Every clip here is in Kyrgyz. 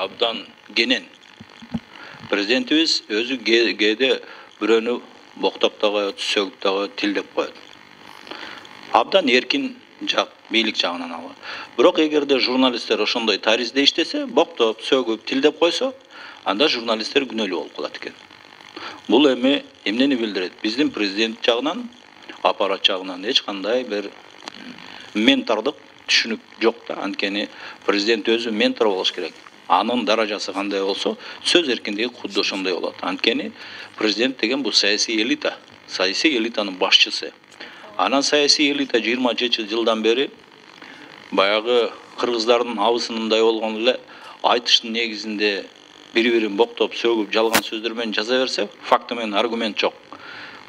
абдан кенен. Президентибиз өзү кээде бирөөнү боктоп да коет, сөгүп да коет, тилдеп коет. Абдан эркин жак, бийлик жагынан алып. Бирок эгерде журналисттер ошондой таризде иштесе, боктоп, сөгүп, тилдеп койсо, анда журналисттер күнөөлүү болуп калат экен. Бул эми эмнени билдирет? Биздин президент жагынан, аппарат жагынан эч кандай бир ментордук түшүнүк жок да. Анткени президент өзү ментор болуш керек. Анын даражасы кандай болсо, сөз эркиндиги кудду ошондой болот. Анткени президент деген бул саясий элита, саясий элитанын башчысы. Анан саясий элита 20 жылдан бери баягы кыргыздардын абысынындай болгон эле айтыштын негизинде бири-бирин боктоп, сөгүп, жалган сөздөр менен жаза берсе, факты менен аргумент жок.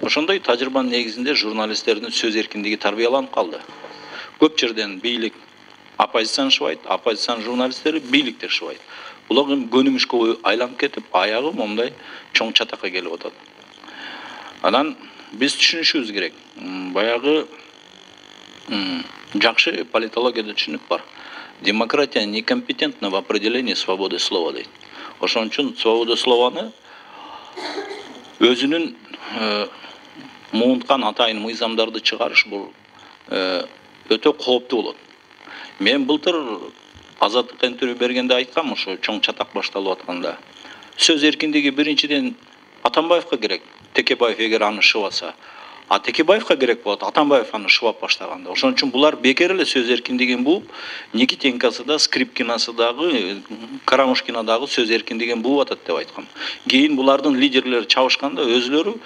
Ошондой тажрыйбанын негизинде журналисттердин сөз эркиндиги тарбияланып калды. Көп жерден бийлик оппозициянышпайт, оппозициянын журналисттери бийликти тышпайт. Булар көнүмүшкө айланып кетип, аягы момундай чоң чатакка келип атат. Анан биз түшүнүшүбүз керек. Баягы жакшы политологияда түшүнүк бар. Демократия некомпетентна в определении свободы слова дейт. Ошон үчүн свобода слованы өзүнүн муунткан атайын мыйзамдарды чыгарыш бул өтө кооптуу болот. Мен былтыр Азаттыкка интервью бергенде айткам, ошо чоң чатак башталып атканда. Сөз эркиндиги биринчиден Атамбаевка керек. Текебаев эгер аны шыбаса, а Текебаевка керек болот, Атамбаев аны шыбап баштаганда. Ошон үчүн булар бекер эле сөз эркиндигин бууп, Никитенкасы да, Скрипкинасы дагы, Карамушкина дагы сөз эркиндигин бууп атат деп айткам. Кийин булардын лидерлери чабышканда өзүлөрү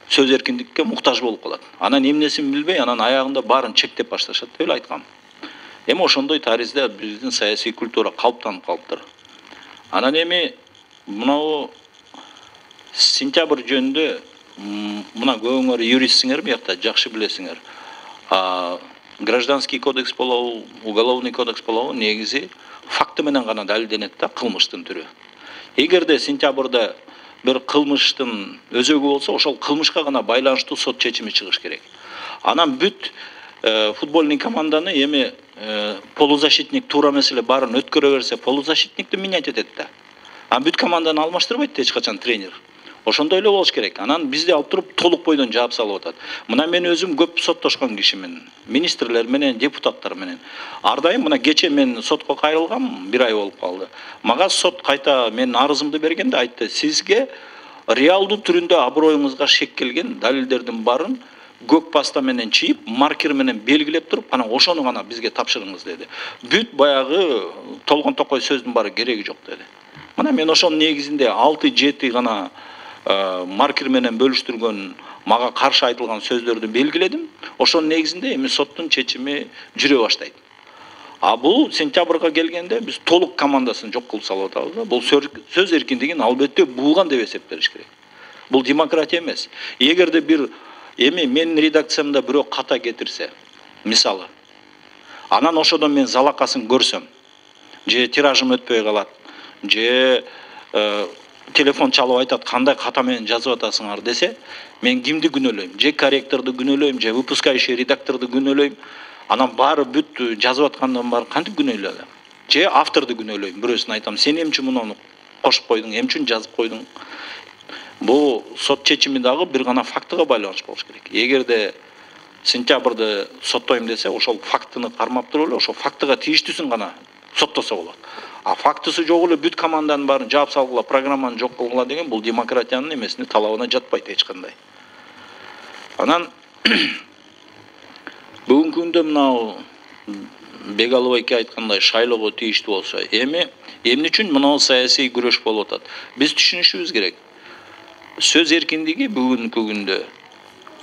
сөз эркиндикке муктаж болуп калат. Анан эмнесин билбей, анан аягында баарын чектеп башташат деп эле айткам. Эми ошондой таризде биздин саясий культура калыптанып калыптыр. Анан эми мынау сентябрь жөнүндө мына көбүңөр юристсиңер, биякта жакшы билесиңер. Гражданский кодекс болобу, уголовный кодекс болобу, негизи факты менен гана далилденет да, кылмыштын түрү. Эгерде сентябрда бир кылмыштын өзөгү болсо, ошол кылмышка гана байланыштуу сот чечими чыгыш керек. Анан бүт футбольный команданы эми полузащитник туура эмес эле баарын өткөрө берсе, полузащитникти менять этет да. Анан бүт команданы алмаштырбайт эч качан тренер. Ошондой эле болуш керек. Анан бизди алып туруп толук бойдон жаап салып атат. Мына мен өзүм көп соттошкон кишимин, министрлер менен, депутаттар менен. Ар дайым мына кече мен сотко кайрылгам, 1 ай болуп калды. Мага сот кайта мен арызымды бергенде айтты: "Сизге реалдуу түрүндө аброюңузга шек келген далилдердин баарын көк паста менен чийип, маркер менен белгилеп туруп, анан ошону гана бизге тапшырыңыз" деди. Бүт баягы толгон токой сөздүн баары кереги жок деди. Мына мен ошонун негизинде 6-7 гана маркер менен бөлүштүргөн, мага каршы айтылган сөздөрдү белгиледим. Ошонун негизинде эми соттун чечими жүрө баштайт. А бул сентябрга келгенде биз толук командасын жок кылып салып атабыз. Бул сөз эркиндигин албетте бууган деп эсептелиш керек. Бул демократия эмес. Эгерде бир эми менин редакциямда бирөө ката кетирсе, мисалы, анан ошодон мен залакасын көрсөм, же тиражым өтпөй калат, же телефон чалып айтат, кандай ката менен жазып атасыңар десе, мен кимди күнөөлөйм? Же корректорду күнөөлөйм, же выпускающий редакторду күнөөлөйм. Анан баары бүт жазып аткандан баары кантип күнөөлөйм? Же авторду күнөөлөйм. Бирөөсүн айтам: "Сен эмне үчүн муну кошуп койдуң? Эмне үчүн жазып койдуң?" Бул сот чечими дагы бир гана фактыга байланыш болуш керек. Эгерде сентябрда соттойм десе, ошол фактыны кармап туруп эле, ошол фактыга тийиштүүсүн гана соттосо болот. А фактысы жок эле бүт команданын баарын жаап салгыла, программаны жок кылгыла деген бул демократиянын эмесине, талабына жатпайт эч кандай. Анан бүгүнкү күндө мынау Бегалова эки айткандай шайлоого тийиштүү болсо, эмне үчүн мынау саясий күрөш болуп атат? Биз түшүнүшүбүз керек. Сөз эркиндиги бүгүнкү күндө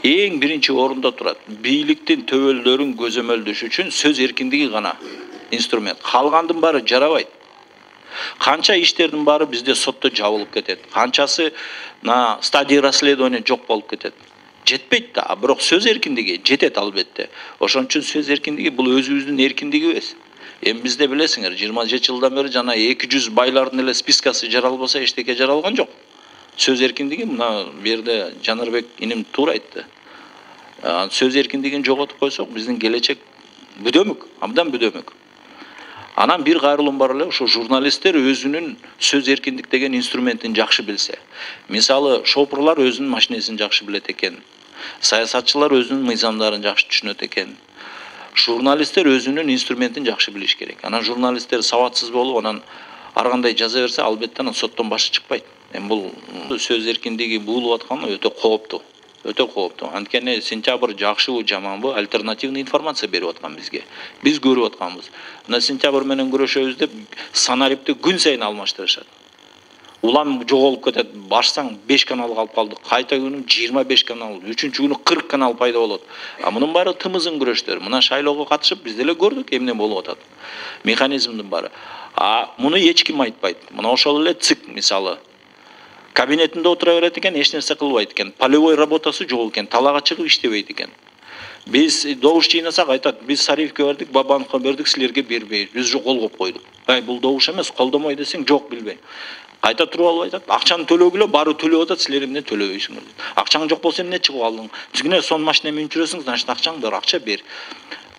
эң биринчи орунда турат. Бийликтин төбөлдөрүн көзөмөлдөш үчүн сөз эркиндиги гана инструмент. Калгандын баары жарабайт. Канча иштердин баары бизде сотто жабылып кетет. Канчасы на стадии расследования жок болуп кетет. Жетпейт да, бирок сөз эркиндиги жетет албетте. Ошон үчүн сөз эркиндиги бул өзүбүздүн эркиндигибиз. Эми бизде билесиңер, 27 жылдан бери жана 200 байлардын эле спискасы жаралбаса эчтеке жаралган жок. Сөз эркиндиги мына бу жерде Жанарбек иним туура айтты. Сөз эркиндигин жоготуп койсок, биздин келечек бүдөмүк, абдан бүдөмүк. Анан бир кайрылым бар эле, ошо журналисттер өзүнүн сөз эркиндик деген инструментин жакшы билсе. Мисалы, шопурлар өзүнүн машинесин жакшы билет экен. Саясатчылар өзүнүн мыйзамдарын жакшы түшүнөт экен. Журналисттер өзүнүн инструментин жакшы билиш керек. Анан журналисттер сабатсыз болуп, анан ар кандай жаза берсе, албетте анан соттон башы чыкпайт. Бул сөз эркиндиги буулуп атканы өтө кооптуу. Өтө кооптуу. Анткени сентябрь жакшыбы, жаманбы, альтернативный информация берип аткан бизге. Биз көрүп атканбыз. Мына сентябрь менен күрөшөбүз деп санарипти күн сайын алмаштырышат. Улам жоголуп кетет. Башсаң 5 канал калып калды. Кайта күнү 25 канал, 3-күнү күнү 40 канал пайда болот. Мунун баары тымызын күрөштөр. Мына шайлоого катышып биз деле көрдүк эмне болуп атат. Механизмдин баары. Муну эч ким айтпайт. Мына ошол эле ЦИК мисалы. Кабинетинде отура берет экен, эч нерсе кылбайт экен. Полевой работасы жок экен, талаага чыгып иштебейт экен. Биз добуш жыйнасак айтат, биз Сариевке бердик, Бабановго бердик, силерге бербейбиз. Биз уже кол коюп койдук. Бул добуш эмес, колдомой десең, жок билбейм. Кайта туруп алып айтат, акчаны төлөгүлө, баары төлөп атат, силер эмне төлөбөйсүңөр дейт. Акчаң жок болсо эмне чыгып алдың? Тигине сон машина менен жүрөсүң, значит акчаң бар, акча бер.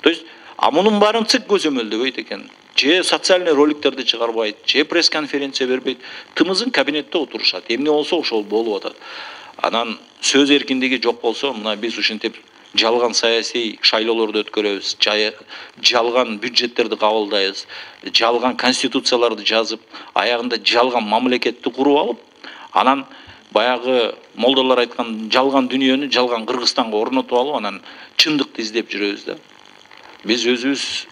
То есть, мунун баарын ЦИК көзөмөлдөбөйт экен. Же социальный роликтерди чыгарбайт, же пресс-конференция бербейт. Тымызын кабинетте отурушат. Эмне болсо ошол болуп атат. Анан сөз эркиндиги жок болсо, мына биз ушинтип жалган саясий шайлоолорду өткөрөбүз, жалган бюджеттерди кабылдайбыз, жалган конституцияларды жазып, аягында жалган мамлекетти куруп алып, анан баягы молдолор айткан жалган дүйнөнү жалган Кыргызстанга орнотуп алып, анан чындыкты издеп жүрөбүз да. Биз өзүбүз